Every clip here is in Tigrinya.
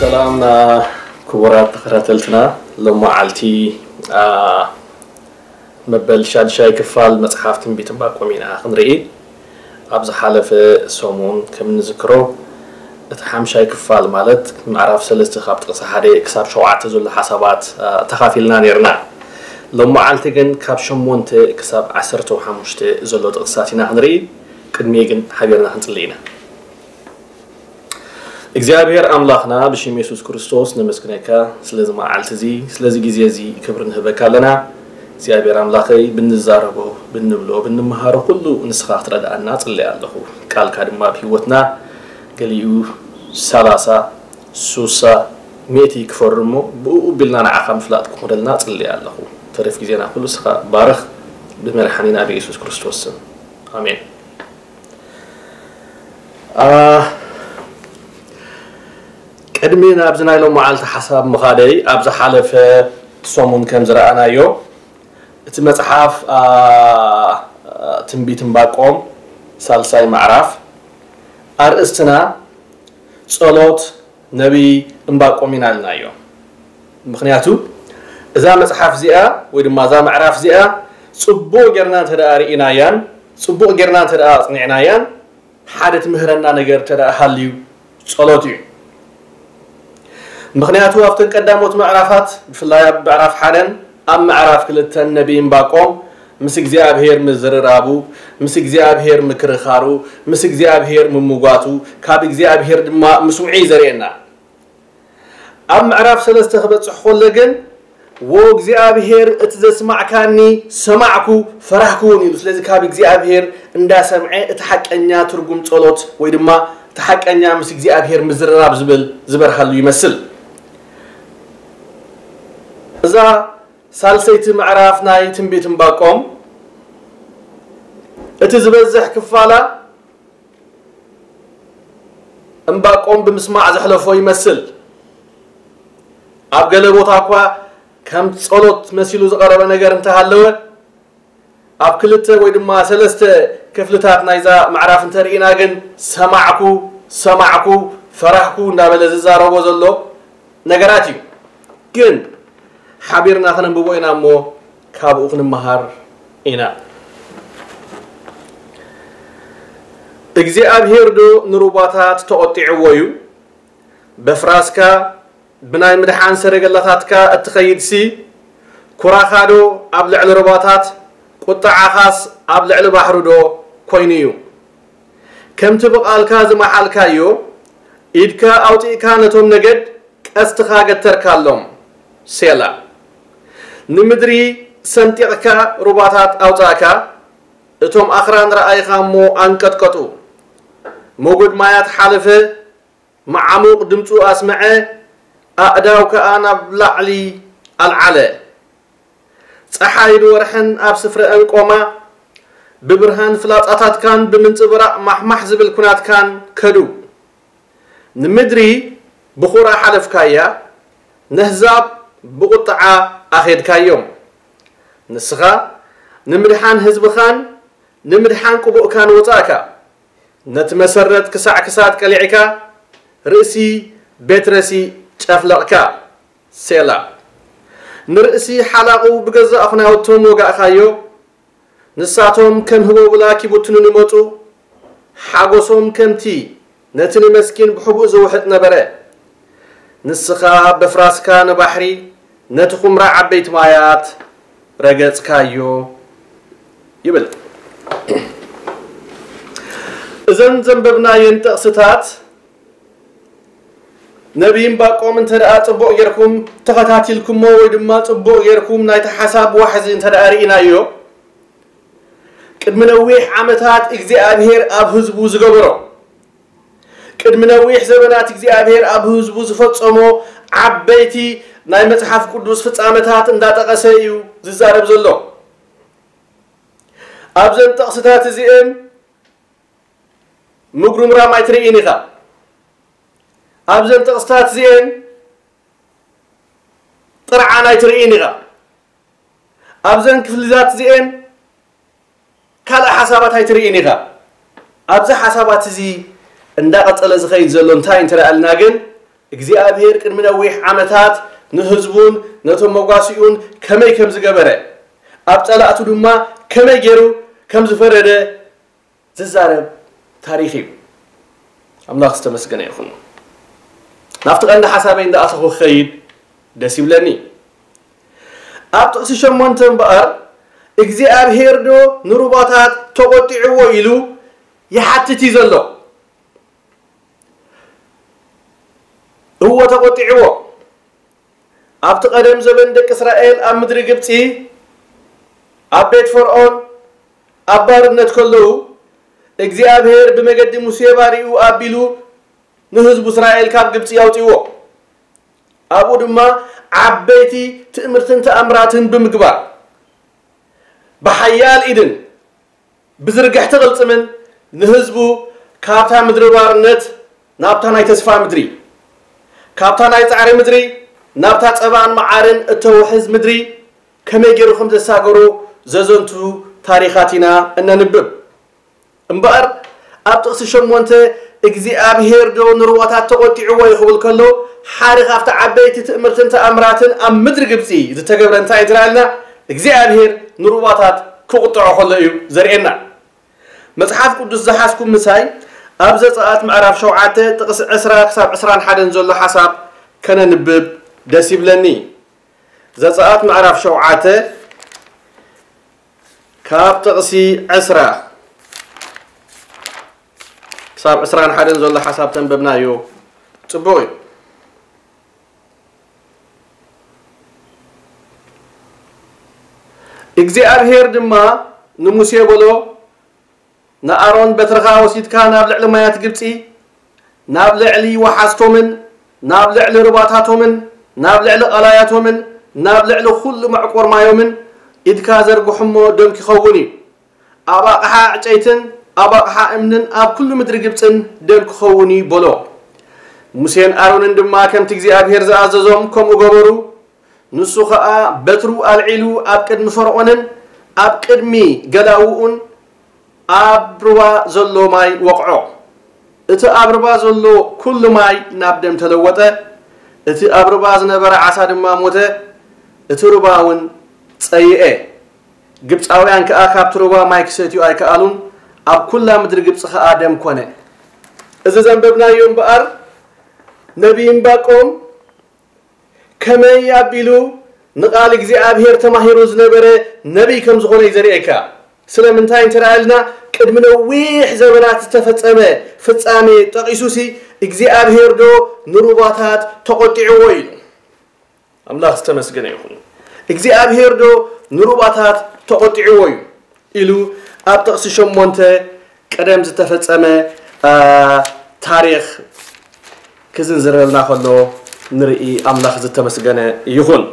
ሰላም ክቡራት ተኸታተልትና፣ ሎመዓልቲ መበል ሻድሻይ ክፋል መጽሓፍ ትንቢት ዕንባቆም ኢና ክንርኢ። ኣብ ዝሓለፈ ሰሙን ከም እንዝክሮ፣ እቲ ሓምሻይ ክፋል ማለት ምዕራፍ ሰለስተ ካብ ጥቕሲ ሓደ ክሳብ ሸውዓተ ዘሎ ሓሳባት ተኻፊልና ነርና። ሎመዓልቲ ግን ካብ ሸሞንተ ክሳብ ዓሰርተ ሓሙሽተ ዘሎ ጥቕስታት ኢና ክንርኢ። ቅድሚ ግን ሓቢርና ክንጽሊ ኢና። እግዚኣብሔር ኣምላኽና፣ ብሽም የሱስ ክርስቶስ ነመስግነካ ስለዚ መዓልቲ እዚ፣ ስለዚ ግዜ እዚ ክብሪ ንህበካ ኣለና። እግዚኣብሔር ኣምላኸይ፣ ብንዛረቦ፣ ብንብሎ፣ ብንመሃሮ ኩሉ ንስኻ ክትረድኣና ጽልየ ኣለኹ። ቃልካ ድማ ኣብ ህይወትና ገሊኡ ሰላሳ፣ ሱሳ፣ ሚእቲ ክፈሪ እሞ ብእኡ ቢልና ንዓኻ ምፍላጥ ክኾነልና ጽልየ ኣለኹ። ተረፍ ግዜና ኩሉ ንስኻ ባርኽ፣ ብመድሓኒና ብየሱስ ክርስቶስ ስም። ኣሜን። ቅድሚ ናብዚ ናይ ሎም መዓልቲ ሓሳብ ምኻደይ፣ ኣብ ዝሓለፈ ሰሙን ከም ዝረኣናዮ፣ እቲ መጽሓፍ ትንቢት ዕንባቆም ሳልሳይ ምዕራፍ ኣርእስትና ጸሎት ነቢይ ዕንባቆም ኢና ኢልናዮ። ምኽንያቱ እዛ መጽሓፍ እዚኣ ወይ ድማ እዛ ምዕራፍ እዚኣ ጽቡቕ ጌርና እንተ ደኣ ርኢናያን ጽቡቕ ጌርና እንተ ደኣ ኣጽኒዕናያን ሓደ ትምህረና ነገር እንተ ደኣ ሃልዩ ጸሎት እዩ። ምኽንያቱ ኣብተን ቀዳሞት ምዕራፋት ብፍላይ ኣብ ምዕራፍ ሓደን ኣብ ምዕራፍ ክልተን ነቢይ ዕንባቆም ምስ እግዚኣብሔር ምዝርራቡ፣ ምስ እግዚኣብሔር ምክርኻሩ፣ ምስ እግዚኣብሔር ምምጓቱ፣ ካብ እግዚኣብሔር ድማ ምስምዑ እዩ ዘርእየና። ኣብ ምዕራፍ ሰለስተ ክበጽሕ ከሎ ግን፣ "ወ እግዚኣብሔር እቲ ዘስማዕካኒ ሰማዕኩ፣ ፈራህኩ እውን" ኢሉ። ስለዚ ካብ እግዚኣብሔር እንዳሰምዐ እቲ ሓቀኛ ትርጉም ጸሎት ወይ ድማ እቲ ሓቀኛ ምስ እግዚኣብሔር ምዝርራብ ዝብል ዝበርሃሉ ይመስል። እዛ ሳልሰይቲ ምዕራፍ ናይ ትንቢት ዕንባቆም እቲ ዝበዝሕ ክፋላ ዕንባቆም ብምስማዕ ዘሕለፎ ይመስል። ኣብ ገለ ቦታ እኳ ከም ጸሎት መሲሉ ዝቐረበ ነገር እንተሃለወ፣ ኣብ ክልተ ወይ ድማ ሰለስተ ክፍልታት ናይዛ ምዕራፍ እንተርኢና ግን ሰማዕኩ፣ ሰማዕኩ፣ ፈራህኩ እንዳበለ ዝዛረቦ ዘሎ ነገራት እዩ። ግን ሓቢርና ከነንብቦ ኢና እሞ ካብኡ ክንመሃር ኢና። እግዚኣብሔር ዶ ንሩባታት ተቖጢዕዎ እዩ? በፍራስካ ብናይ ምድሓን ሰረገላታትካ እትኸይድሲ፣ ኩራኻ ዶ ኣብ ልዕሊ ሩባታት፣ ቁጥዓኻስ ኣብ ልዕሊ ባሕሪ ዶ ኮይኑ እዩ? ከምቲ ብቓልካ ዝመሓልካዮ፣ ኢድካ ኣውጺእካ ነቶም ነገድ ቀስትኻ ገተርካሎም። ሴላ። ንምድሪ ሰንጢቕካ ሩባታት ኣውጻእካ፣ እቶም ኣኽራን ረኣይኻ እሞ ኣንቀጥቀጡ። ሞገድ ማያት ሓለፈ፣ መዓሙቕ ድምጹ ኣስምዐ፣ ኣእዳው ከኣ ናብ ላዕሊ ኣልዓለ። ጸሓይን ወርሕን ኣብ ስፍረአን ቆማ፣ ብብርሃን ፍላጻታትካን ብምንጽብራቕ ማሕማሕ ዝብል ኩናትካን ከዱ። ንምድሪ ብኹራ ሓለፍካያ፣ ነህዛብ ብቑጥዓ ኣኼድካዮም። ንስኻ ንምድሓን ህዝብኻን ንምድሓን ቅቡእካን ወጻእካ። ነቲ መሰረት ክሳዕ ክሳድ ቀሊዕካ፣ ርእሲ ቤትረሲ ጨፍለቕካ። ሴላ። ንርእሲ ሓላቑ ብገዛእ ኹናውቶም ወጋእካዮ። ንሳቶም ከም ህቦብላ ኪቡትኑ ንመጹ። ሓጎሶም ከምቲ ነቲ ንመስኪን ብሕቡእ ዝውሕጥ ነበረ። ንስኻ በፍራስካ ንባሕሪ፣ ነቲ ኹምራ ዓበይቲ ማያት ረገጽካዮ ይብል። እዘን ዘንበብናየን ጥቕስታት ነቢይ ዕንባቆም እንተ ደኣ ጽቡቕ ጌርኩም ተኸታቲልኩሞ ወይ ድማ ጽቡቕ ጌርኩም ናይቲ ሓሳብ ዋሕዚ እንተ ደኣ ርኢናዮ፣ ቅድሚ ነዊሕ ዓመታት እግዚኣብሔር ኣብ ህዝቡ ዝገበሮ፣ ቅድሚ ነዊሕ ዘበናት እግዚኣብሔር ኣብ ህዝቡ ዝፈጸሞ ዓበይቲ ናይ መጽሓፍ ቅዱስ ፍጻመታት እንዳጠቐሰ እዩ ዝዛረብ ዘሎ። ኣብዘን ጥቕስታት እዚኤን ምጉርምራም ኣይትርእይን ኢኻ። ኣብዘን ጥቕስታት እዚኤን ጥርዓን ኣይትርእይን ኢኻ። ኣብዘን ክፍልታት እዚኤን ካልእ ሓሳባት ኣይትርእይን ኢኻ። ኣብዚ ሓሳባት እዚ እንዳቐጸለ ዝኸይድ ዘሎ እንታይ እንተ ደኣ ኢልና ግን፣ እግዚኣብሔር ቅድሚ ነዊሕ ዓመታት ንህዝቡን ነቶም መጓሲኡን ከመይ ከም ዝገበረ፣ ኣብ ጸላእቱ ድማ ከመይ ገይሩ ከም ዝፈረደ ዝዛረብ ታሪኽ እዩ። ኣምላኽ ዝተመስገነ ይኹን። ናብቲ ቀንዲ ሓሳበይ እንዳኣተኹ ክኸይድ ደስ ይብለኒ። ኣብ ጥቕሲ ሸሞንተ እምበኣር እግዚኣብሔር ዶ ንሩባታት ተቖጢዕዎ ኢሉ ይሓትት እዩ ዘሎ። እዎ ተቖጢዕዎ። ኣብቲ ቀደም ዘበን ደቂ እስራኤል ኣብ ምድሪ ግብጺ ኣብ ቤት ፈርዖን ኣብ ባርነት ከለዉ እግዚኣብሔር ብመገዲ ሙሴ ባሪኡ ኣቢሉ ንህዝቡ እስራኤል ካብ ግብጺ ኣውጺዎ። ኣብኡ ድማ ዓበይቲ ትእምርትን ተኣምራትን ብምግባር ብሓያል ኢድን ብዝርግሕቲ ቅልጽምን ንህዝቡ ካብታ ምድሪ ባርነት ናብታ ናይ ተስፋ ምድሪ፣ ካብታ ናይ ጻዕሪ ምድሪ ናብታ ጸባን መዓርን እተውሕዝ ምድሪ ከመይ ገይሩ ከም ዘሳገሮ ዘዘንቱ ታሪኻት ኢና እነንብብ። እምበኣር ኣብ ጥቕሲ ሸሞንተ እግዚኣብሔር ዶ ንሩባታት ተቖጢዕዎ እዩ ክብል ከሎ፣ ሓደ ካብቲ ዓበይቲ ትእምርትን ተኣምራትን ኣብ ምድሪ ግብጺ ዝተገብረ እንታይ እዩ ትረኣልና? እግዚኣብሔር ንሩባታት ክቕጥዖ ከሎ እዩ ዘርእየና። መጽሓፍ ቅዱስ ዝሓዝኩም ምሳይ ኣብ ዘጸኣት ምዕራፍ ሸውዓተ ጥቕሲ ዕስራ ክሳብ ዕስራን ሓደን ዘሎ ሓሳብ ከነንብብ ደስ ይብለኒ። ዘጸኣት ምዕራፍ ሸውዓተ ካብ ጥቕሲ ዕስራ ክሳብ ዕስራን ሓደን ዘሎ ሓሳብ ተንበብናዮ ጽቡቕ እዩ። እግዚኣብሔር ድማ ንሙሴ በሎ፣ ንኣሮን በትርኻ ወሲድካ ናብ ልዕሊ ማያት ግብጺ፣ ናብ ልዕሊ ወሓዝቶምን ናብ ልዕሊ ሩባታቶምን ናብ ልዕሊ ቐላያቶምን ናብ ልዕሊ ኹሉ መዕቆር ማዮምን ኢድካ ዘርግሖ እሞ ደም ክኸውን እዩ። ኣብ ኣቕሓ ዕጨይትን ኣብ ኣቕሓ እምንን ኣብ ኩሉ ምድሪ ግብጽን ደም ክኸውን እዩ በሎ። ሙሴን ኣሮንን ድማ ከምቲ እግዚኣብሔር ዝኣዘዞም ከምኡ ገበሩ። ንሱ ኸኣ በትሩ ኣልዒሉ ኣብ ቅድሚ ፈርዖንን ኣብ ቅድሚ ገላውኡን ኣብ ሩባ ዘሎ ማይ ወቕዖ። እቲ ኣብ ሩባ ዘሎ ኩሉ ማይ ናብ ደም ተለወጠ። እቲ ኣብ ሩባ ዝነበረ ዓሳ ድማ ሞተ። እቲ ሩባ እውን ጸይኤ። ግብጻውያን ከኣ ካብቲ ሩባ ማይ ክሰትዩ ኣይከኣሉን። ኣብ ኩላ ምድሪ ግብጺ ከኣ ደም ኮነ። እዚ ዘንበብናዮ እምበኣር ነቢይ እምባቆም ከመይ ኣቢሉ ንቓል እግዚኣብሔር ተማሂሩ ዝነበረ ነቢይ ከም ዝኾነ እዩ ዘርእየካ። ስለምንታይ እንተ ደኣ ኢልና፣ ቅድሚ ነዊሕ ዘበናት ዝተፈጸመ ፍጻሜ ጠቒሱሲ፣ እግዚኣብሔር ዶ ንሩባታት ተቖጢዕዎ ኢሉ? ኣምላኽ ዝተመስገነ ይኹን። እግዚኣብሔር ዶ ንሩባታት ተቖጢዕዎ እዩ? ኢሉ ኣብ ጥቕሲ ሸሞንተ ቀደም ዝተፈጸመ፣ አ፣ ታሪኽ ክዝንዝረልና ከሎ ንርኢ። ኣምላኽ ዝተመስገነ ይኹን።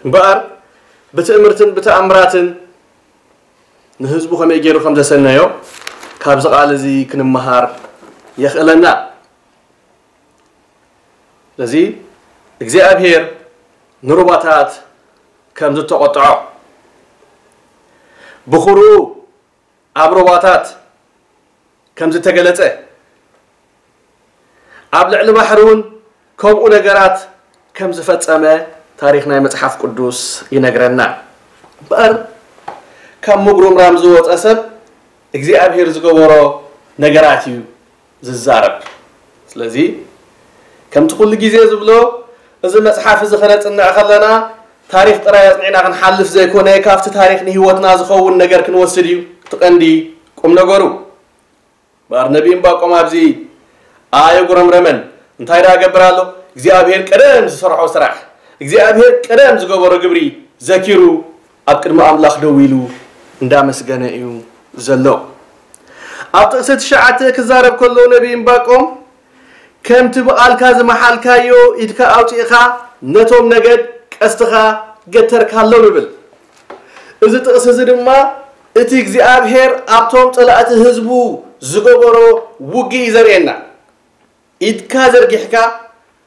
እምበኣር ብትእምርትን ብተኣምራትን ንህዝቡ ከመይ ገይሩ ከም ዘሰነዮ ካብዚ ቃል እዚ ክንመሃር የኽእለና። ስለዚ እግዚኣብሔር ንሩባታት ከም ዝተቖጥዖ፣ ብኹሩ ኣብ ሩባታት ከም ዝተገለጸ፣ ኣብ ልዕሊ ባሕሪ እውን ከምኡ ነገራት ከም ዝፈጸመ ታሪኽ ናይ መጽሓፍ ቅዱስ ይነግረና። እምበኣር ካብ ምጉርምራም ዝወጸ ሰብ እግዚኣብሔር ዝገበሮ ነገራት እዩ ዝዛረብ። ስለዚ ከምቲ ኩሉ ግዜ ዝብሎ፣ እዚ መጽሓፍ እዚ ከነጽንዕ ከለና ታሪኽ ጥራይ ኣጽኒዕና ክንሓልፍ ዘይኮነ፣ ካብቲ ታሪኽ ንህይወትና ዝኸውን ነገር ክንወስድ እዩ እቲ ቀንዲ ቁም ነገሩ። እምበኣር ነቢይ እምባቆም ኣብዚ ኣየጉረምረመን። እንታይ ደኣ ገብር ኣሎ? እግዚኣብሔር ቀደም ዝሰርሖ ስራሕ፣ እግዚኣብሔር ቀደም ዝገበሮ ግብሪ ዘኪሩ ኣብ ቅድሚ ኣምላኽ ደው ኢሉ እንዳመስገነ እዩ ዘሎ። ኣብ ጥቕሲ ትሽዓተ ክዛረብ ከሎ ነቢይ እምባቆም፣ ከምቲ ብቓልካ ዝመሓልካዮ ኢድካ ኣውጺእኻ ነቶም ነገድ ቀስትኻ ገተርካሎም ይብል። እዚ ጥቕሲ እዚ ድማ እቲ እግዚኣብሔር ኣብቶም ጸላእቲ ህዝቡ ዝገበሮ ውግእ እዩ ዘርእየና። ኢድካ ዘርጊሕካ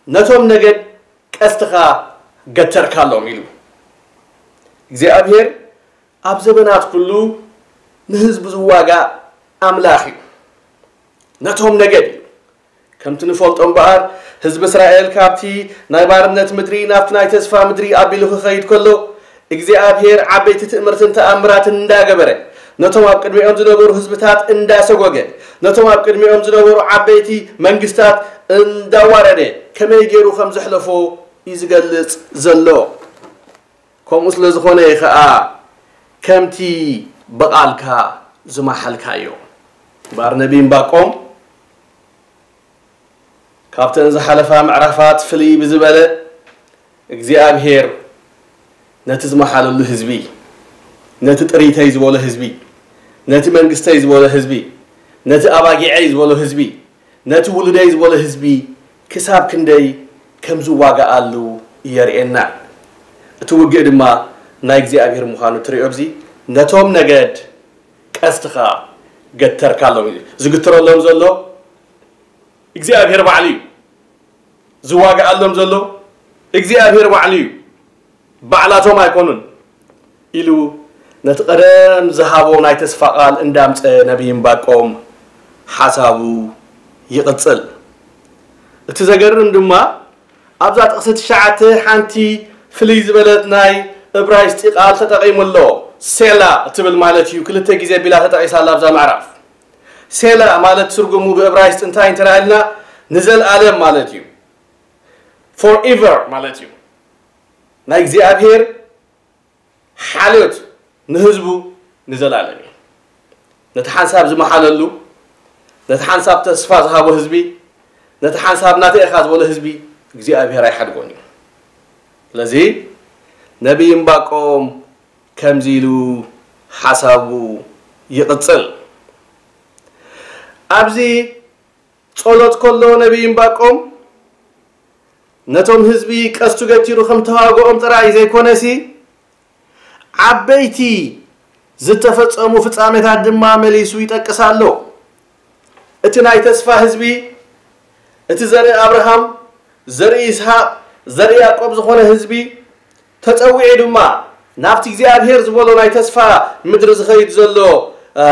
ነቶም ነገድ ቀስትኻ ገተርካሎም ኢሉ። እግዚኣብሔር ኣብ ዘበናት ኩሉ ንህዝቡ ዝዋጋእ ኣምላኽ እዩ። ነቶም ነገድ እዩ ከምቲ ንፈልጦ እምበኣር፣ ህዝቢ እስራኤል ካብቲ ናይ ባርነት ምድሪ ናብቲ ናይ ተስፋ ምድሪ ኣቢሉ ክኸይድ ከሎ፣ እግዚኣብሔር ዓበይቲ ትእምርትን ተኣምራትን እንዳገበረ፣ ነቶም ኣብ ቅድሚኦም ዝነበሩ ህዝብታት እንዳሰጎገ፣ ነቶም ኣብ ቅድሚኦም ዝነበሩ ዓበይቲ መንግስታት እንዳዋረደ፣ ከመይ ገይሩ ከም ዘሕለፎ እዩ ዝገልጽ ዘሎ። ከምኡ ስለ ዝኾነ እዩ ኸኣ ከምቲ ብቓልካ ዝመሓልካዮ። እምበኣር ነቢይ እምባቆም ካብተን ዝሓለፋ ምዕራፋት ፍልይ ብዝበለ እግዚኣብሔር ነቲ ዝመሓለሉ ህዝቢ፣ ነቲ ጥሪተይ ዝበሎ ህዝቢ፣ ነቲ መንግስተይ ዝበሎ ህዝቢ፣ ነቲ ኣባጊዐይ ዝበሎ ህዝቢ፣ ነቲ ውሉደይ ዝበሎ ህዝቢ ክሳብ ክንደይ ከም ዝዋጋኣሉ የርእየና። እቲ ውግእ ድማ ናይ እግዚኣብሔር ምዃኑ ትሪኦ። ኣብዚ ነቶም ነገድ ቀስትኻ ገተርካሎም እዩ። ዝግትረሎም ዘሎ እግዚኣብሔር ባዕሉ እዩ። ዝዋጋኣሎም ዘሎ እግዚኣብሔር ባዕሉ እዩ። ባዕላቶም ኣይኮኑን ኢሉ ነቲ ቀደም ዝሃቦ ናይ ተስፋ ቃል እንዳምጸ ነቢይ እምባቆም ሓሳቡ ይቕጽል። እቲ ዘገርም ድማ ኣብዛ ጥቕሲ ትሽዓተ ሓንቲ ፍልይ ዝበለት ናይ እብራይስጢ ቃል ተጠቒሙ ኣሎ። ሴላ እትብል ማለት እዩ። ክልተ ግዜ ቢላ ተጠቒሳ ኣላ ኣብዛ ምዕራፍ። ሴላ ማለት ትርጉሙ ብእብራይስጥ እንታይ እንተረኣ ኢልና፣ ንዘልኣለም ማለት እዩ። ፎርኤቨር ማለት እዩ። ናይ እግዚኣብሔር ሓልዮት ንህዝቡ ንዘልኣለም እዩ። ነቲ ሓንሳብ ዝመሓለሉ፣ ነቲ ሓንሳብ ተስፋ ዝሃቦ ህዝቢ፣ ነቲ ሓንሳብ ናተይ ኢኻ ዝበሎ ህዝቢ እግዚኣብሔር ኣይሓድጎን እዩ። ስለዚ ነቢይ እምባቆም ከምዚ ኢሉ ሓሳቡ ይቕጽል። ኣብዚ ጸሎት ከሎ ነቢይ እምባቆም ነቶም ህዝቢ ቀስቱ ገቲሩ ከም ተዋግኦም ጥራይ ዘይኮነሲ፣ ዓበይቲ ዝተፈጸሙ ፍጻሜታት ድማ መሊሱ ይጠቅስ ኣሎ። እቲ ናይ ተስፋ ህዝቢ፣ እቲ ዘርኢ ኣብርሃም፣ ዘርኢ ይስሐቅ፣ ዘርኢ ያዕቆብ ዝኾነ ህዝቢ ተጸዊዑ ድማ ናብቲ እግዚኣብሔር ዝበሎ ናይ ተስፋ ምድሪ ዝኸይድ ዘሎ፣ አ፣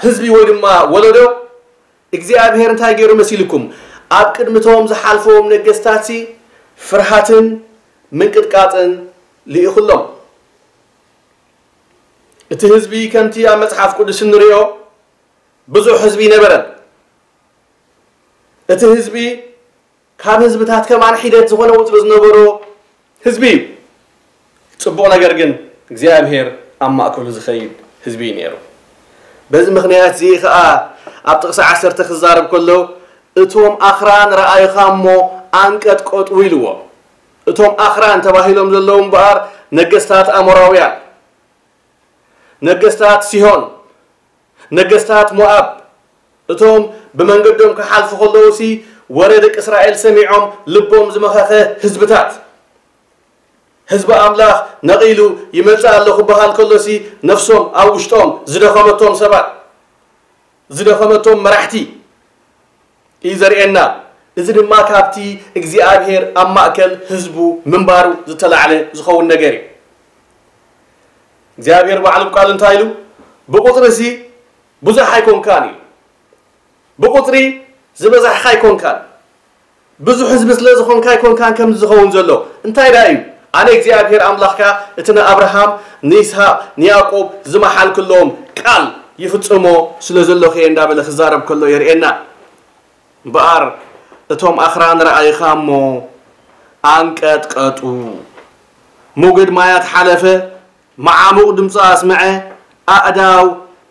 ህዝቢ ወይ ድማ ወለዶ እግዚኣብሔር እንታይ ገይሩ መሲልኩም? ኣብ ቅድሚቶም ዝሓልፎም ነገስታትሲ ፍርሃትን ምንቅጥቃጥን ልኢኹሎም። እቲ ህዝቢ ከምቲ ኣብ መጽሓፍ ቅዱስ እንሪኦ ብዙሕ ህዝቢ ነበረን። እቲ ህዝቢ ካብ ህዝብታት ከማን ሒደት ዝኾነ ውጥሪ ዝነበሮ ህዝቢ እዩ። ጽቡቕ ነገር ግን እግዚኣብሔር ኣብ ማእከሉ ዝኸይድ ህዝቢ እዩ ነይሩ። በዚ ምኽንያት እዚ ኸኣ ኣብ ጥቕሲ ዓሰርተ ክዛረብ ከሎ፣ "እቶም ኣኽራን ረኣይኻ እሞ ኣንቀጥቀጡ" ኢልዎ። እቶም ኣኽራን ተባሂሎም ዘለዉ እምበኣር ነገስታት ኣሞራውያን፣ ነገስታት ሲሆን፣ ነገስታት ሞኣብ፣ እቶም ብመንገዶም ክሓልፉ ከለዉሲ ወረ ደቂ እስራኤል ሰሚዖም ልቦም ዝመኸኸ ህዝብታት፣ ህዝቢ ኣምላኽ ነቒሉ ይመጽእ ኣሎ ክበሃል ከሎሲ ነፍሶም ኣብ ውሽጦም ዝደኸመቶም ሰባት፣ ዝደኸመቶም መራሕቲ እዩ ዘርእየና። እዚ ድማ ካብቲ እግዚኣብሔር ኣብ ማእከል ህዝቡ ምንባሩ ዝተላዕለ ዝኸውን ነገር እዩ። እግዚኣብሔር ባዕሉ ብቃሉ እንታይ ኢሉ? "ብቁጽሪ ሲ ብዙሕ ኣይኮንካን" እዩ። ብቁጽሪ ዝበዛሕካ ኣይኮንካን። ብዙሕ ህዝቢ ስለ ዝኾንካ ኣይኮንካን ከምዚ ዝኸውን ዘሎ። እንታይ ደኣ እዩ? ኣነ እግዚኣብሔር ኣምላኽካ እቲ ንኣብርሃም፣ ንይስሃቅ፣ ንያዕቆብ ዝመሓልክሎም ቃል ይፍጽሞ ስለ ዘለኹ እየ እንዳበለ ክዛረብ ከሎ የርእየና። እምበኣር እቶም ኣኽራን ረኣይኻ እሞ ኣንቀጥቀጡ። ሙግድ ማያት ሓለፈ፣ መዓሙቕ ድምፁ ኣስምዐ፣ ኣእዳው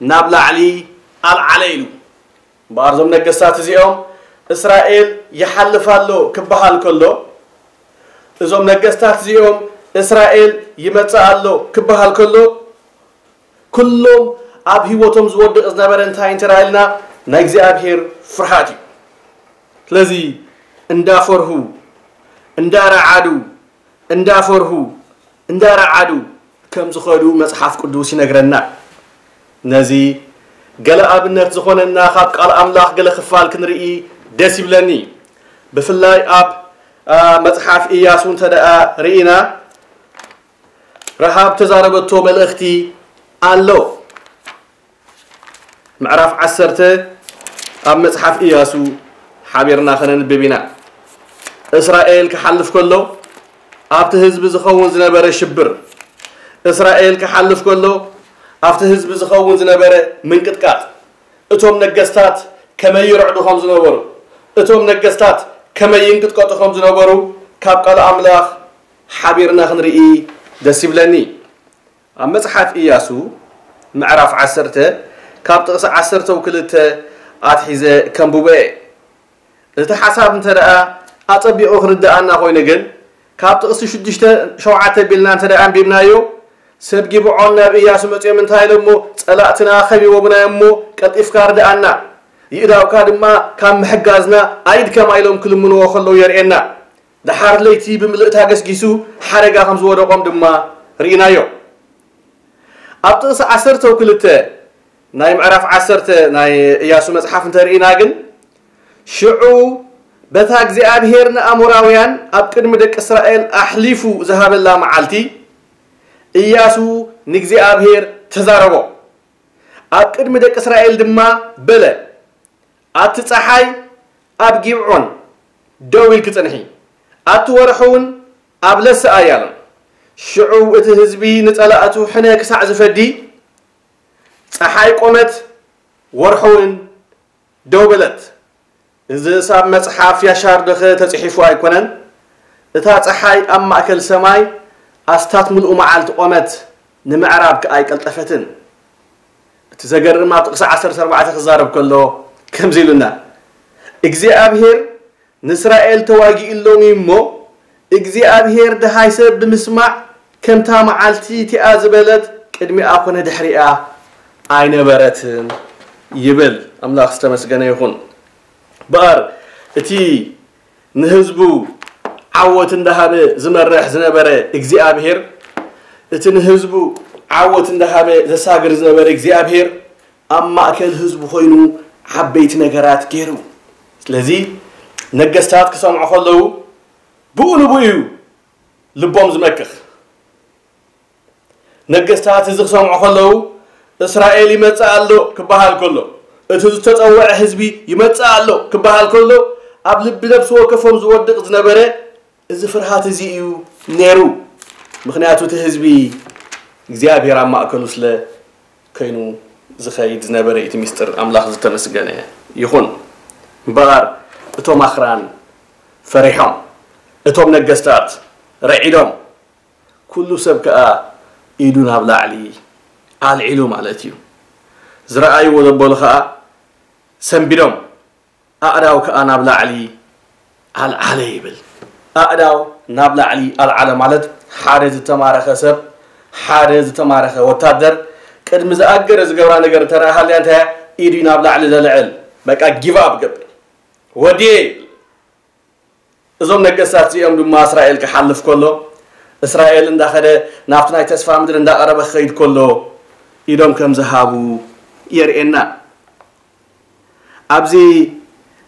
ናብ ላዕሊ ኣልዓለ ኢሉ። እምበኣር እዞም ነገስታት እዚኦም እስራኤል ይሓልፍ ኣሎ ክበሃል ከሎ፣ እዞም ነገስታት እዚኦም እስራኤል ይመጽእ ኣሎ ክበሃል ከሎ፣ ኩሎም ኣብ ህይወቶም ዝወድቕ ዝነበረ እንታይ እንተ ኢልና፣ ናይ እግዚኣብሔር ፍርሃት እዩ። ስለዚ እንዳፈርሁ፣ እንዳረዓዱ፣ እንዳፈርሁ፣ እንዳረዓዱ ከም ዝኸዱ መጽሓፍ ቅዱስ ይነግረና። ነዚ ገለ ኣብነት ዝኾነና ካብ ቃል ኣምላኽ ገለ ክፋል ክንርኢ ደስ ይብለኒ። ብፍላይ ኣብ፣ አ፣ መጽሓፍ ኢያሱ እንተ ደኣ ርኢና፣ ረሃብ ተዛረበቶ መልእኽቲ ኣሎ። ምዕራፍ ዓሰርተ ኣብ መጽሓፍ ኢያሱ ሓቢርና ከነንብብ ኢና። እስራኤል ክሓልፍ ከሎ ኣብቲ ህዝቢ ዝኸውን ዝነበረ ሽብር፣ እስራኤል ክሓልፍ ከሎ ኣብቲ ህዝቢ ዝኸውን ዝነበረ ምንቅጥቃጥ፣ እቶም ነገስታት ከመይ ይርዕዱ ከም ዝነበሩ፣ እቶም ነገስታት ከመይ ይንቅጥቀጡ ከም ዝነበሩ ካብ ቃል ኣምላኽ ሓቢርና ክንርኢ ደስ ይብለኒ። ኣብ መጽሓፍ ኢያሱ ምዕራፍ ዓሰርተ ካብ ጥቕሲ ዓሰርተ ክልተ ኣትሒዘ ከንብቦ እየ። እቲ ሓሳብ እንተ ደኣ ኣጸቢቑ ክርድኣና ኮይኑ ግን፣ ካብ ጥቕሲ ሽዱሽተ ሸውዓተ ቢልና እንተ ደኣ ኣንቢብናዮ፣ ሰብ ጊብዖን ናብ ኢያሱ መጺኦም እንታይ ኢሎሞ፣ "ጸላእትና ከቢቦምና እዮም እሞ ቀልጢፍካ ርድኣና፣ ይእዳውካ ድማ ካብ ምሕጋዝና ኣይድከማ" ኢሎም ክልምንዎ ከለዉ የርእየና። ደሓር ለይቲ ብምልእታ ገስጊሱ ሓደጋ ከም ዝወደቖም ድማ ርኢናዮ። ኣብ ጥቕሲ ዓሰርተ ክልተ ናይ ምዕራፍ ዓሰርተ ናይ ኢያሱ መጽሓፍ እንተርኢና ግን፣ ሽዑ በታ እግዚኣብሔር ንኣሞራውያን ኣብ ቅድሚ ደቂ እስራኤል ኣሕሊፉ ዝሃበላ መዓልቲ፣ ኢያሱ ንእግዚኣብሔር ተዛረቦ። ኣብ ቅድሚ ደቂ እስራኤል ድማ በለ፣ "ኣቲ ጸሓይ ኣብ ጊብዖን ደው ኢልኪ ጽንሒ፣ ኣቲ ወርሒ እውን ኣብ ለሰ ኣያሎን።" ሽዑ እቲ ህዝቢ ንጸላእቱ ሕነ ክሳዕ ዝፈዲ፣ ጸሓይ ቆመት፣ ወርሒ እውን ደው በለት። እዝስ ኣብ መጽሓፍ ያሻር ደኸ ተጽሒፉ ኣይኮነን? እታ ጸሓይ ኣብ ማእከል ሰማይ ኣስታት ምሉእ መዓልቲ ቆመት፣ ንምዕራብ ከኣ ኣይቀልጠፈትን። እቲ ዘገርም ኣብ ጥቕሲ ዓሰርተ ኣርባዕተ ክዛረብ ከሎ ከምዚ ኢሉና፣ "እግዚኣብሔር ንእስራኤል ተዋጊእሎም እዩ እሞ፣ እግዚኣብሔር ደሃይ ሰብ ብምስማዕ ከምታ መዓልቲ እቲኣ ዝበለት ቅድሚኣ ኮነ ድሕሪኣ ኣይነበረትን" ይብል። ኣምላኽ ዝተመስገነ ይኹን። በኣር እቲ ንህዝቡ ዓወት እንዳሃበ ዝመርሕ ዝነበረ እግዚኣብሔር፣ እቲ ንህዝቡ ዓወት እንዳሃበ ዘሳግር ዝነበረ እግዚኣብሔር፣ ኣብ ማእከል ህዝቡ ኮይኑ ዓበይቲ ነገራት ገይሩ። ስለዚ ነገስታት ክሰምዑ ከለዉ ብኡ ንብኡ እዩ ልቦም ዝመክኽ። ነገስታት እዚ ክሰምዑ ከለዉ፣ "እስራኤል ይመጽእ ኣሎ" ክበሃል ከሎ፣ "እቲ ዝተጸውዐ ህዝቢ ይመጽእ ኣሎ" ክበሃል ከሎ፣ ኣብ ልቢ ነፍሲ ወከፎም ዝወድቕ ዝነበረ እዚ ፍርሃት እዚ እዩ ነይሩ። ምኽንያቱ እቲ ህዝቢ እግዚኣብሔር ኣብ ማእከሉ ስለ ኮይኑ ዝኸይድ ዝነበረ እዩ እቲ ምስጢር። ኣምላኽ ዝተመስገነ ይኹን። እምበኣር እቶም ኣኽራን ፈሪሖም፣ እቶም ነገስታት ረዒዶም፣ ኩሉ ሰብ ከኣ ኢዱ ናብ ላዕሊ ኣልዒሉ ማለት እዩ። ዝረኣይዎ ዘበሉ ከኣ ሰንቢዶም፣ ኣእዳው ከኣ ናብ ላዕሊ ኣልዓለ ይብል። ኣእዳው ናብ ላዕሊ ኣልዓለ ማለት ሓደ ዝተማረኸ ሰብ፣ ሓደ ዝተማረኸ ወታደር ቅድሚ ዝኣገረ ዝገብራ ነገር እንተ ደኣ ሃልያ እንታይ እያ? ኢዱ ናብ ላዕሊ ዘልዕል፣ በቃ ጊቭ ኣፕ ገብር። ወድየ ይብል። እዞም ነገስታት እዚኦም ድማ እስራኤል ክሓልፍ ከሎ፣ እስራኤል እንዳኸደ ናብቲ ናይ ተስፋ ምድሪ እንዳቐረበ ክኸይድ ከሎ ኢዶም ከም ዝሃቡ የርእየና። ኣብዚ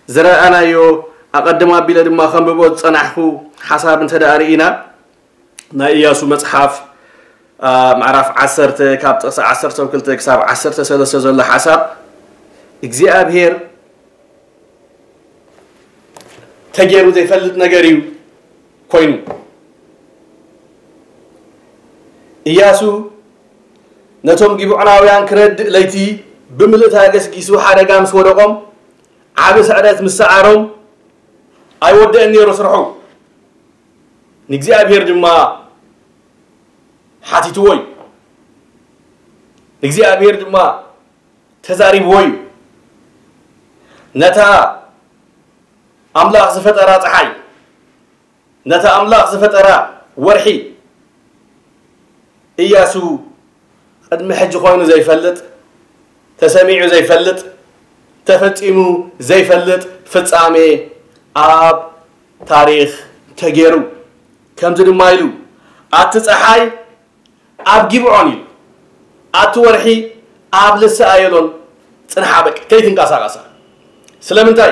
ዝረኣናዮ ኣቐድም ኣቢለ ድማ ከንብቦ ዝጸናሕኩ ሓሳብ እንተ ደኣ ርኢና፣ ናይ ኢያሱ መጽሓፍ፣ ኣ፣ ምዕራፍ ዓሰርተ ካብ ጥቕሲ ዓሰርተ ክልተ ክሳብ ዓሰርተ ሰለስተ ዘሎ ሓሳብ እግዚኣብሔር ተገይሩ ዘይፈልጥ ነገር እዩ ኮይኑ። ኢያሱ ነቶም ጊብዖናውያን ክረድእ ለይቲ ብምልእታ ገስጊሱ ሓደጋ ምስ ወደቖም፣ ዓቢ ስዕረት ምስ ሰዓሮም፣ ኣይወደአን ነይሩ ስርሑ። ንእግዚኣብሔር ድማ ሓቲትዎ እዩ። ንእግዚኣብሔር ድማ ተዛሪብዎ እዩ። ነታ ኣምላኽ ዝፈጠራ ጸሓይ፣ ነታ ኣምላኽ ዝፈጠራ ወርሒ፣ ኢያሱ ቅድሚ ሕጂ ኮይኑ ዘይፈልጥ፣ ተሰሚዑ ዘይፈልጥ፣ ተፈጺሙ ዘይፈልጥ ፍጻሜ ኣብ ታሪኽ ተገይሩ። ከምዚ ድማ ኢሉ፣ "ኣቲ ጸሓይ ኣብ ጊብዖን" ኢሉ፣ "ኣቲ ወርሒ ኣብ ልሰ ኣየሎን ጽንሓ፣ በቃ ከይትንቀሳቐሳ።" ስለምንታይ?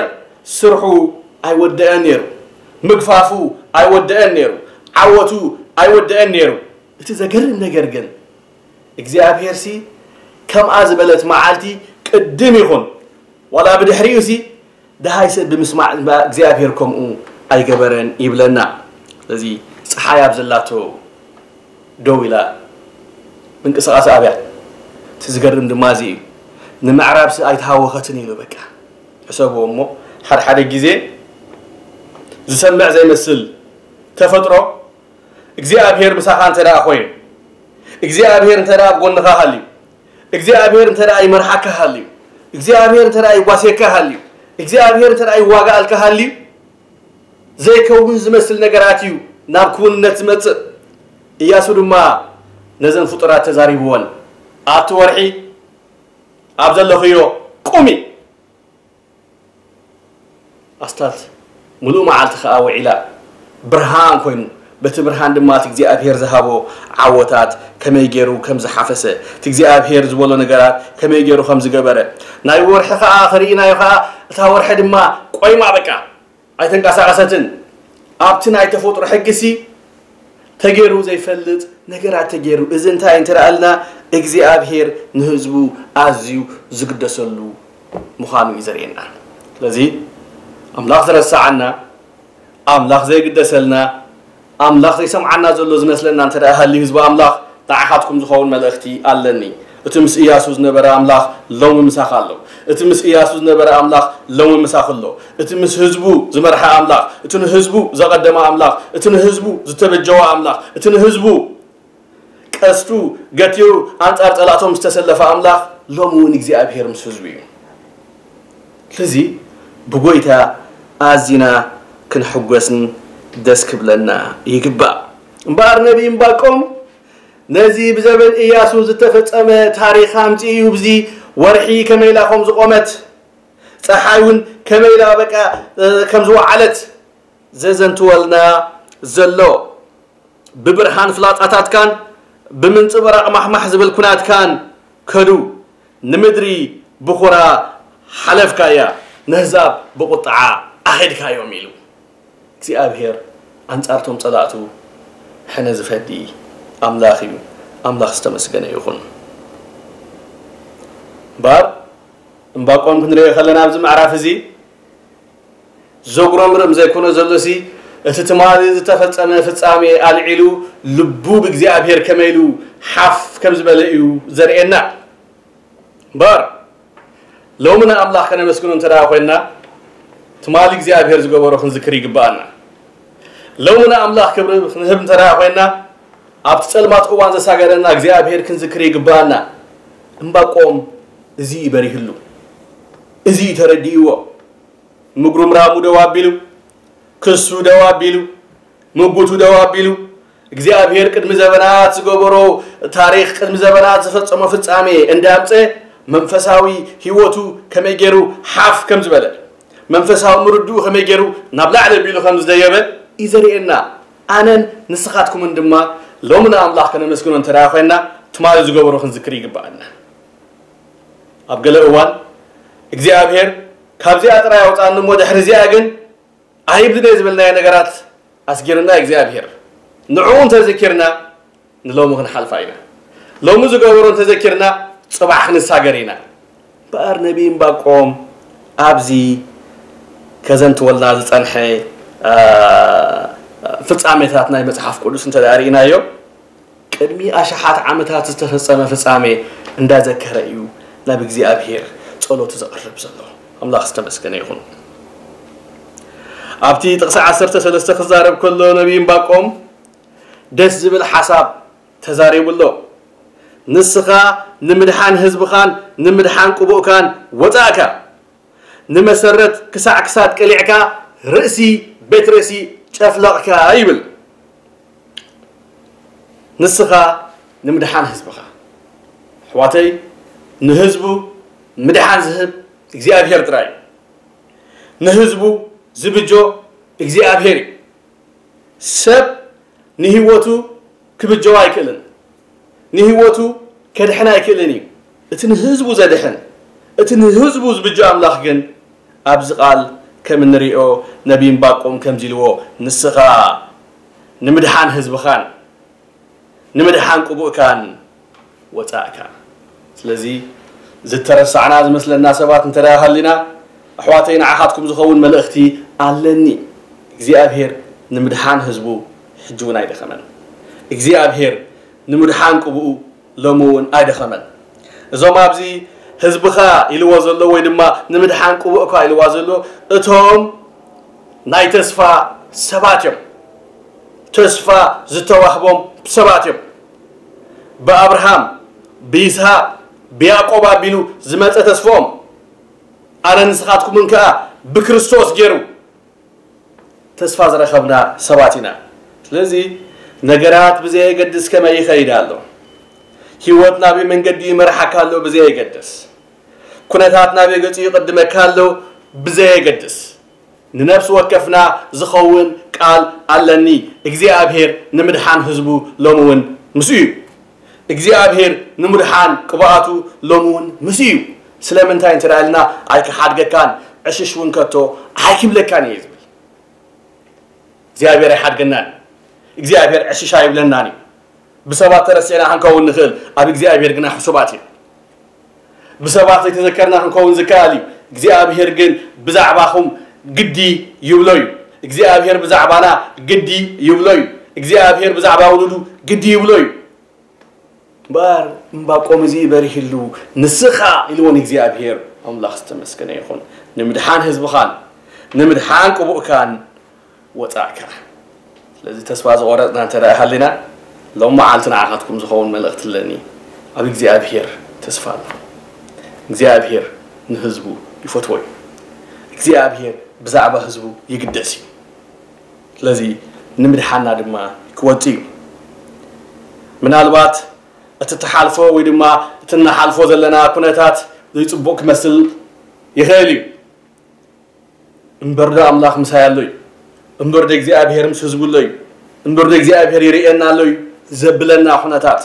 ስርሑ ኣይወደአን ነይሩ፣ ምግፋፉ ኣይወደአን ነይሩ፣ ዓወቱ ኣይወደአን ነይሩ። እቲ ዘገርም ነገር ግን እግዚኣብሔርሲ ከምኣ ዝበለት መዓልቲ ቅድም ይኹን ዋላ ብድሕሪኡሲ ደሃይ ሰብ ብምስማዕ እግዚኣብሔር ከምኡ ኣይገበረን ይብለና። ስለዚ ፀሓይ ኣብ ዘላቶ ደው ኢላ ምንቅስቃስ ኣብያ። እቲ ዝገርም ድማ እዚ እዩ። ንምዕራብሲ ኣይተሃወኸትን ኢሉ በቃ ሕሰብዎ እሞ ሓደ ሓደ ግዜ ዝሰምዕ ዘይመስል ተፈጥሮ እግዚኣብሔር ምሳኻ እንተ ደኣ ኮይኑ እግዚኣብሔር እንተ ደኣ ኣብ ጎንኻ ሃልዩ እግዚኣብሔር እንተ ደኣ ይመርሓካ ሃልዩ እግዚኣብሔር እንተ ደኣ ይጓስየካ ሃልዩ እግዚኣብሔር እንተ ደኣ ይዋጋኣልካ ሃልዩ ዘይከውን ዝመስል ነገራት እዩ ናብ ክውንነት ዝመጽእ። እያሱ ድማ ነዘን ፍጡራት ተዛሪብወን ኣቲ ወርሒ ኣብ ዘለኽዮ ቁሚ ኣስታት ምሉእ መዓልቲ ከኣ ውዒላ ብርሃን ኮይኑ በቲ ብርሃን ድማ እቲ እግዚኣብሔር ዝሃቦ ዓወታት ከመይ ገይሩ ከም ዝሓፈሰ እቲ እግዚኣብሔር ዝበሎ ነገራት ከመይ ገይሩ ከም ዝገበረ ናይ ወርሒ ከኣ ክርኢናዮ ከኣ እታ ወርሒ ድማ ቆይማ በቃ ኣይተንቀሳቐሰትን ኣብቲ ናይ ተፈጥሮ ሕጊሲ ተገይሩ ዘይፈልጥ ነገራት ተገይሩ እዚ እንታይ እንተደኣልና እግዚኣብሔር ንህዝቡ ኣዝዩ ዝግደሰሉ ምዃኑ እዩ ዘርእየና። ስለዚ ኣምላኽ ዝረስዓና፣ ኣምላኽ ዘይግደሰልና፣ ኣምላኽ ዘይሰምዓና ዘሎ ዝመስለና እንተ ደኣ ሃልዩ ህዝቢ ኣምላኽ ንዓኻትኩም ዝኸውን መልእኽቲ ኣለኒ። እቲ ምስ እያሱ ዝነበረ ኣምላኽ ሎሚ ምሳኻ ኣሎ። እቲ ምስ እያሱ ዝነበረ ኣምላኽ ሎሚ ምሳኺ ኣሎ። እቲ ምስ ህዝቡ ዝመርሓ ኣምላኽ፣ እቲ ንህዝቡ ዘቐደመ ኣምላኽ፣ እቲ ንህዝቡ ዝተበጀወ ኣምላኽ፣ እቲ ንህዝቡ ቀስቱ ገቲሩ ኣንጻር ጸላእቶም ዝተሰለፈ ኣምላኽ ሎሚ እውን እግዚኣብሔር ምስ ህዝቡ እዩ። ስለዚ ብጎይታ ኣዚና ክንሕጎስን ደስ ክብለና ይግባእ። እምበኣር ነቢ እምባቆም ነዚ ብዘበን እያሱ ዝተፈጸመ ታሪኽ ኣምጺኡ እዩ። ብዚ ወርሒ ከመይ ኢላ ከም ዝቖመት፣ ጸሓይ እውን ከመይ ኢላ በቃ ከም ዝወዓለት ዘዘንትወልና ዘሎ። ብብርሃን ፍላጻታትካን ብምንጽብራቕ ማሕማሕ ዝብል ኩናትካን ከዱ፣ ንምድሪ ብኹራ ሓለፍካያ፣ ነህዛብ ብቑጥዓ ኣኺድካዮም ኢሉ እግዚኣብሔር ኣንጻርቶም ጸላእቱ ሕነ ዝፈዲ ኣምላኽ እዩ። ኣምላኽ ዝተመስገነ ይኹን። እምበኣር እምባቆም ክንሪኦ ከለና ኣብዚ ምዕራፍ እዚ ዘጉረምርም ዘይኮነ ዘሎሲ እቲ ትማሊ ዝተፈጸመ ፍጻሜ ኣልዒሉ ልቡ ብእግዚኣብሔር ከመይ ኢሉ ሓፍ ከም ዝበለ እዩ ዘርእየና። እምበር ሎሚ ንኣምላኽ ከነመስግኖ እንተ ደኣ ኮይንና ትማሊ እግዚኣብሔር ዝገበሮ ክንዝክር ይግብኣና። ሎሚ ንኣምላኽ ክብሪ ክንህብ እንተ ደኣ ኮይንና ኣብቲ ጸልማት እዋን ዘሳገረና እግዚኣብሔር ክንዝክር ይግብኣና። እምባቆም እዚ እዩ በሪህሉ፣ እዚ እዩ ተረዲእዎ። ምጉርምራሙ ደው ኣቢሉ፣ ክሱ ደው ኣቢሉ፣ ምጉቱ ደው ኣቢሉ፣ እግዚኣብሔር ቅድሚ ዘበናት ዝገበሮ ታሪኽ፣ ቅድሚ ዘበናት ዝፈጸሞ ፍጻሜ እንዳምጸ መንፈሳዊ ህይወቱ ከመይ ገይሩ ሓፍ ከም ዝበለ፣ መንፈሳዊ ምርድኡ ከመይ ገይሩ ናብ ላዕሊ ኣቢሉ ከም ዝደየበ እዩ ዘርእየና። ኣነን ንስኻትኩምን ድማ ሎሚ ንኣምላኽ ከነመስግኖ እንተ ደኣ ኮይንና ትማሊ ዝገበሮ ክንዝክር ይግብኣና። ኣብ ገለ እዋን እግዚኣብሔር ካብዚኣ ጥራይ ኣውፃኒ እሞ ድሕሪ እዚኣ ግን ኣይብልን እየ ዝበልናዮ ነገራት ኣስጊርና እግዚኣብሔር ንዕኡ እንተዘኪርና ንሎሚ ክንሓልፋ ኢና። ሎሚ ዝገበሮ እንተዘኪርና ፅባሕ ክንሳገር ኢና። እምበኣር ነቢይ እምባቆም ኣብዚ ከዘንትወልና ዝፀንሐ ፍፃሜታት ናይ መፅሓፍ ቅዱስ እንተ ርኢናዮ ቅድሚ ኣሽሓት ዓመታት ዝተፈጸመ ፍጻሜ እንዳዘከረ እዩ ናብ እግዚኣብሔር ጸሎቱ ዘቕርብ ዘሎ። ኣምላኽ ዝተመስገነ ይኹን። ኣብቲ ጥቕሲ ዓሰርተ ሰለስተ ክዛረብ ከሎ ነቢይ እምባቆም ደስ ዝብል ሓሳብ ተዛሪቡ ኣሎ። ንስኻ ንምድሓን ህዝብኻን ንምድሓን ቅቡእካን ወጻእካ። ንመሰረት ክሳዕ ክሳድ ቀሊዕካ ርእሲ ቤት ርእሲ ጨፍለቕካ ይብል። ንስኻ ንምድሓን ህዝብኻ ኣሕዋተይ ንህዝቡ ምድሓን ዝህብ እግዚኣብሔር ጥራይ እዩ። ንህዝቡ ዝብጆ እግዚኣብሔር እዩ። ሰብ ንህይወቱ ክብጀዋ ኣይክእልን። ንህይወቱ ከድሕን ኣይክእልን እዩ። እቲ ንህዝቡ ዘድሕን እቲ ንህዝቡ ዝብጆ ኣምላኽ ግን ኣብዚ ቃል ከም እንሪኦ ነቢ እምባቆም ከምዚ ኢልዎ ንስኻ ንምድሓን ህዝብኻን ንምድሓን ቅቡእካን ወፃእካ። ስለዚ ዝተረሳዕና ዝመስለና ሰባት እንተ ሃሊና ኣሕዋተይ፣ ንዓኻትኩም ዝኸውን መልእኽቲ ኣለኒ። እግዚኣብሔር ንምድሓን ህዝቡ ሕጂ እውን ኣይደኸመን። እግዚኣብሔር ንምድሓን ቅብኡ ሎሚ እውን ኣይደኸመን። እዞም ኣብዚ ህዝብኻ ኢልዎ ዘሎ ወይ ድማ ንምድሓን ቅቡእካ ኢልዋ ዘሎ እቶም ናይ ተስፋ ሰባት እዮም። ተስፋ ዝተዋህቦም ሰባት እዮም። ብኣብርሃም፣ ብይስሃቅ፣ ብያዕቆብ ኣቢሉ ዝመፀ ተስፎም ኣነ ንስኻትኩምን ከኣ ብክርስቶስ ገይሩ ተስፋ ዝረኸብና ሰባት ኢና። ስለዚ ነገራት ብዘየገድስ ከመይ ይኸይድ ኣሎ፣ ህይወት ናበይ መንገዲ ይመርሓካ ኣሎ ብዘየገድስ፣ ኩነታት ናበይ ገጹ ይቕድመካ ኣሎ ብዘየገድስ፣ ንነፍሲ ወከፍና ዝኸውን ቃል ኣለኒ። እግዚኣብሔር ንምድሓን ህዝቡ ሎሚ እውን ምስ እዩ። እግዚኣብሔር ንምድሓን ቅብኣቱ ሎሚ እውን ምስ እዩ። ስለምንታይ እንተ ኢልና፣ ኣይክሓድገካን ዕሽሽ እውን ከቶ ኣይክብለካን እየ ዝብል። እግዚኣብሔር ኣይሓድገናን። እግዚኣብሔር ዕሽሽ ኣይብለናን እዩ። ብሰባት ተረሲዕና ክንከውን ንኽእል፣ ኣብ እግዚኣብሔር ግና ሕሱባት እዩ። ብሰባት ዘይተዘከርና ክንከውን ዝከኣል እዩ። እግዚኣብሔር ግን ብዛዕባኹም ግዲ ይብሎ እዩ። እግዚኣብሔር ብዛዕባና ግዲ ይብሎ እዩ። እግዚኣብሔር ብዛዕባ ውሉዱ ግዲ ይብሎ እዩ። እምበኣር እምባቆም እዚ በሪህሉ፣ ንስኻ ኢልዎ ንእግዚኣብሔር። ኣምላኽ ዝተመስገነ ይኹን። ንምድሓን ህዝብኻን ንምድሓን ቅቡእካን ወጻእካ። ስለዚ ተስፋ ዝቖረጽና እንተ ደኣ ሃሊና፣ ሎም መዓልቲ ንዓኻትኩም ዝኸውን መልእኽቲ ኣለኒ። ኣብ እግዚኣብሔር ተስፋ ኣሎ። እግዚኣብሔር ንህዝቡ ይፈትዎ እዩ። እግዚኣብሔር ብዛዕባ ህዝቡ ይግደስ እዩ። ስለዚ ንምድሓና ድማ ክወጽእ እዩ። ምናልባት እቲ እትሓልፎ ወይ ድማ እቲ እናሓልፎ ዘለና ኩነታት ዘይጽቡቕ ክመስል ይኽእል እዩ። እምበር ዶ ኣምላኽ ምሳይ ኣሎ እዩ? እምበር ዶ እግዚኣብሔር ምስ ህዝቡ ኣሎ እዩ? እምበር ዶ እግዚኣብሔር ይርእየና ኣሎ እዩ? ዘብለና ኩነታት፣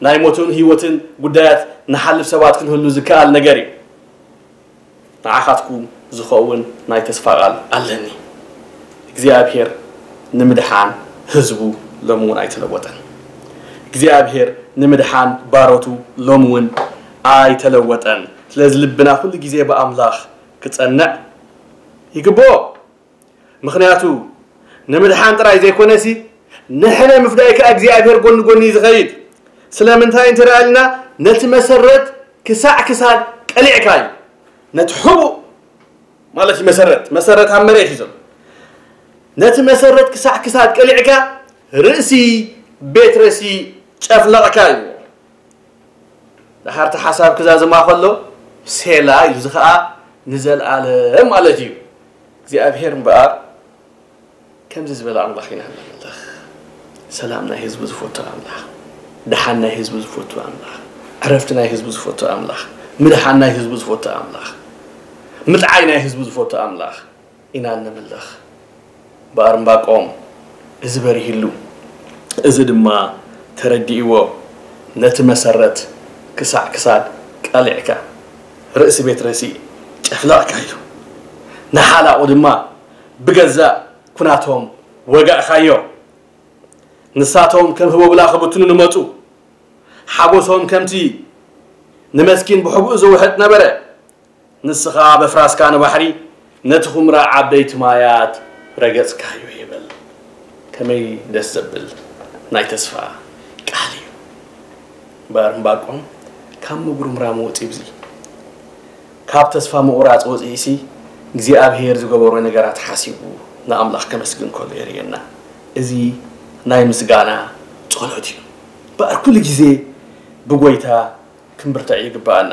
ናይ ሞትን ህይወትን ጉዳያት ንሓልፍ ሰባት ክንህሉ ዝከኣል ነገር እዩ። ንዓኻትኩም ዝኸውን ናይ ተስፋ ቃል ኣለኒ። እግዚኣብሔር ንምድሓን ህዝቡ ሎሚ እውን ኣይተለወጠን። እግዚኣብሔር ንምድሓን ባሮቱ ሎሚ እውን ኣይተለወጠን። ስለዚ ልብና ኩሉ ግዜ ብኣምላኽ ክጸንዕ ይግብኦ። ምኽንያቱ ንምድሓን ጥራይ ዘይኮነሲ፣ ንሕነ ምፍዳይ ከኣ እግዚኣብሔር ጎኒ ጎኒ እዩ ዝኸይድ። ስለምንታይ እንተ ደኣ ኢልና፣ ነቲ መሰረት ክሳዕ ክሳድ ቀሊዕካ እዩ። ነቲ ሕቡእ ማለት እዩ መሰረት። መሰረት ኣብ መሬት እዩ ዘሎ። ነቲ መሰረት ክሳዕ ክሳድ ቀሊዕካ፣ ርእሲ ቤት ረሲ ጨፍለቕካ እዩ። ደሓር እቲ ሓሳብ ክዛዝማ ከሎ፣ ሴላ ኢሉ፣ እዚ ኸኣ ንዘለኣለም ማለት እዩ። እግዚኣብሔር እምበኣር ከምዚ ዝበለ ኣምላኽ ኢና ነምልኽ። ሰላም ናይ ህዝቡ ዝፈቱ ኣምላኽ፣ ደሓን ናይ ህዝቡ ዝፈቱ ኣምላኽ፣ ዕረፍቲ ናይ ህዝቡ ዝፈቱ ኣምላኽ፣ ምድሓን ናይ ህዝቡ ዝፈቱ ኣምላኽ፣ ምጥዓይ ናይ ህዝቡ ዝፈቱ ኣምላኽ ኢና እነምልኽ። እምበኣር እምባቆም እዚ በሪህሉ፣ እዚ ድማ ተረዲእዎ፣ ነቲ መሰረት ክሳዕ ክሳድ ቀሊዕካ፣ ርእሲ ቤት ረሲ ጨፍለቕካ ኢሉ፣ ንሓላቑ ድማ ብገዛእ ኩናቶም ወጋእካዮ። ንሳቶም ከም ህቦብላ ክብትኑ ንመጹ። ሓጎሶም ከምቲ ንመስኪን ብሕቡእ ዝውሕጥ ነበረ። ንስኻ በፍራስካ ንባሕሪ፣ ነቲ ኹምራ ዓበይቲ ማያት ረገጽካዮ ይብል። ከመይ ደስ ዘብል ናይ ተስፋ ቃል እዩ። እምበኣር እምባቆም ካብ ምጉርምራም ወጺኡ፣ እዚ ካብ ተስፋ ምቑራጽ ወጺኡሲ እግዚኣብሔር ዝገበሮ ነገራት ሓሲቡ ንኣምላኽ ከመስግን ከሎ የርእየና። እዚ ናይ ምስጋና ጸሎት እዩ። እምበኣር ኩሉ ግዜ ብጎይታ ክንብርትዕ ይግብኣና።